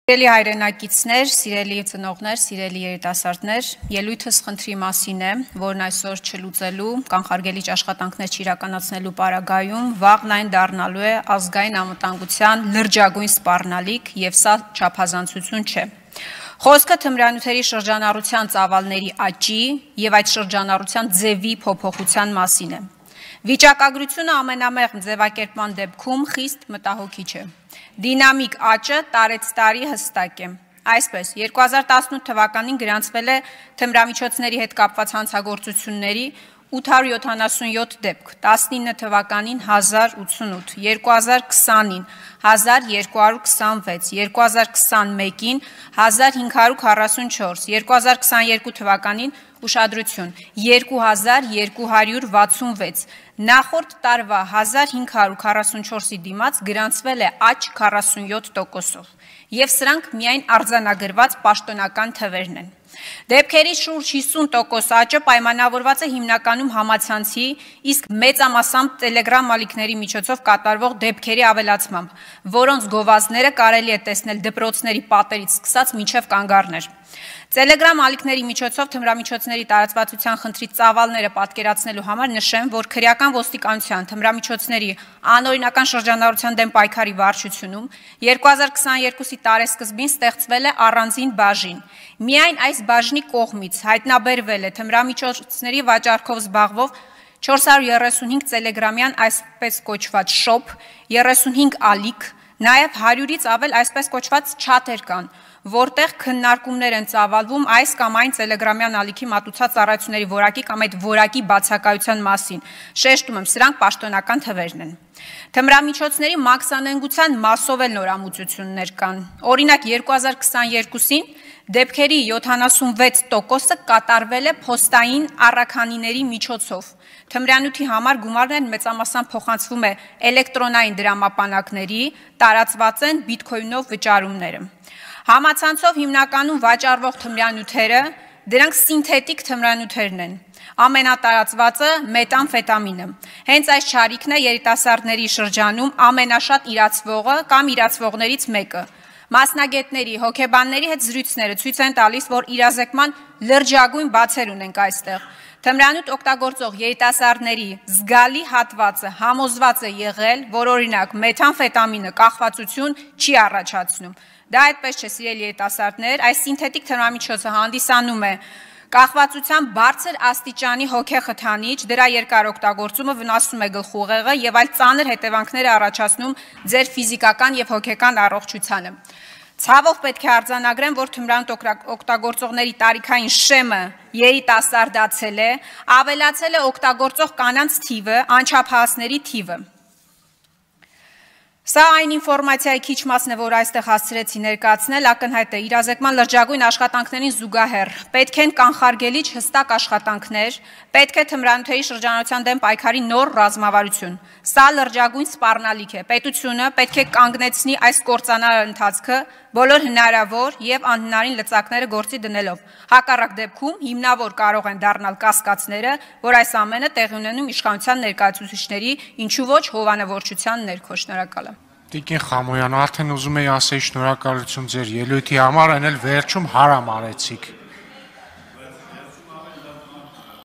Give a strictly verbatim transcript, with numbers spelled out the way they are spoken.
Սիրելի հայրենակիցներ, սիրելի ծնողներ, սիրելի երիտասարդներ, ելույթս խնդրի մասին է, որն այսօր չլուծելու, կանխարգելիչ աշխատանքներ չիրականացնելու պարագայում վաղն այն դառնալու է ազգային անվտանգության լրջագույն սպառնալիք եւ սա չափազանցություն չէ։ Խոսքը թմրանյութերի շրջանառության ծավալների աճի եւ այդ շրջանառության ձևի փոփոխության մասին է։ Վիճակագրությունը ամենամեղմ ձևակերպման դեպքում խիստ մտահոգիչ է։ Դինամիկ աճը տարեց տարի հստակ է։ Այսպես, երկու հազար տասնութ թվականին գրանցվել է թմրամիջոցների հետ կապված հանցագործությունների ութ հարյուր յոթանասունյոթ դեպք, տասնինը թվականին հազար ութսունութ, երկու հազար քսանին հազար երկու հարյուր քսանվեց, երկու հազար քսանմեկին հազար հինգ հարյուր քառասունչորս, երկու հազար քսաներկու թվականին ուշադրություն երկու հազար երկու հարյուր վաթսունվեց, նախորդ տարվա հազար հինգ հարյուր քառասունչորսի դիմաց գրանցվել է աճ քառասունյոթ տոկոսով, եւ սրանք միայն արձանագրված պաշտոնական թվերն են։ Դեպքերի շուրջ հիսուն տոկոս աճը պայմանավորված է հիմնականում համացանցի, իսկ մեծամասամբ տելեգրամ ալիքների միջոցով կատարվող դեպքերի ավելացմամբ, որոնց գովազդները կարելի է տեսնել դպրոցների պատերից սկսած մինչև կանգառներ։ Տելեգրամ ալիքների միջոցով թմրամիջոցների տարածվածության խնդրի ծավալները պատկերացնելու համար նշեմ, որ քրեական ոստիկանության թմրամիջոցների անօրինական շրջանառության դեմ պայքարի վարչությունում երկու հազար քսաներկուսի տարեսկզբին ստեղծվել է առանձին բաժին։ Միայն այս բաժնի կողմից հայտնաբերվել է թմրամիջոցների վաճառքով զբաղվող չորս հարյուր երեսունհինգ տելեգրամյան այսպես կոչված շոփ, երեսունհինգ ալիք, նաև հարյուրից ավել այսպես կոչված չաթեր կան, որտեղ քննարկումներ են ծավալվում այս կամ այն տելեգրամյան ալիքի մատուցած ծառայությունների որակի կամ այդ որակի բացակայության մասին։ Շեշտում եմ, սրանք պաշտոնական թվերն են։ Թմրամիջոցների մաքսանենգության մասով էլ նորամուծություններ կան։ Օրինակ երկու հազար քսաներկուսին դեպքերի յոթանասունվեց տոկոսը կատարվել է փոստային առաքանիների միջոցով։ Թմրանյութի համար գումարներն մեծամասամբ փոխանցվում է էլեկտրոնային դրամապանակների, տարածված են բիտքոյնով վճարումները։ Համացանցով հիմնականում վաճառվող թմրանյութերը դրանք սինթետիկ թմրանյութերն են։ Ամենատարածվածը մետամֆետամինը։ Հենց այս չարիքն է երիտասարդների շրջանում ամենաշատ իրացվողը կամ իրացվողներից մեկը։ Մասնագետների, հոգեբանների հետ զրույցները ցույց են տալիս, որ իրազեկման լրջագույն բացեր ունենք այստեղ։ Թմրանյութ օգտագործող երիտասարդների զգալի հատվածը համոզված է եղել, որ օրինակ մետամֆետամինը կախվածություն չի առաջացնում։ Դա այդպես չէ, սիրելի երիտասարդներ, այս սինթետիկ թմրամիջոցը հանդիսանում է կախվածության բարձր աստիճանի հոգեխթանիչ, դրա երկար օգտագործումը վնասում է գլխուղեղը եւ այլ ծանր հետևանքներ է առաջացնում ձեր ֆիզիկական եւ հոգեկան առողջությանը։ Ցավով պետք է արձանագրեմ, որ թմրանյութ օգտագործողների տարիքային շեմը երիտասարդացել է, ավելացել է օգտագործող կանանց թիվը, անչափահասների թիվը։ Սա այն ինֆորմացիայի քիչ մասն է, որ այստեղ հասցրեցի ներկայացնել, ակնհայտ է իրազեկման լրջագույն աշխատանքներին զուգահեռ պետք են կանխարգելիչ հստակ աշխատանքներ, պետք է թմրանյութերի շրջանառության դեմ պայքարի նոր ռազմավարություն։ Սա լրջագույն սպառնալիք է։ Պետությունը պետք է կանգնեցնի այս կործանարար ընթացքը բոլոր հնարավոր եւ անհնարին լծակները գործի դնելով։ Հակառակ դեպքում հիմնավոր կարող են դառնալ կասկածները, որ այս ամենը տեղի ունենում իշխանության ներկայացուցիչների, ինչու ոչ հովանավորչության ներքո։ Շնորհակալ եմ։ Տիկին Խամոյան, արդեն ուզում եի ասեի շնորհակալություն ձեր ելույթի համար, այն էլ վերջում հարամ արեցիք։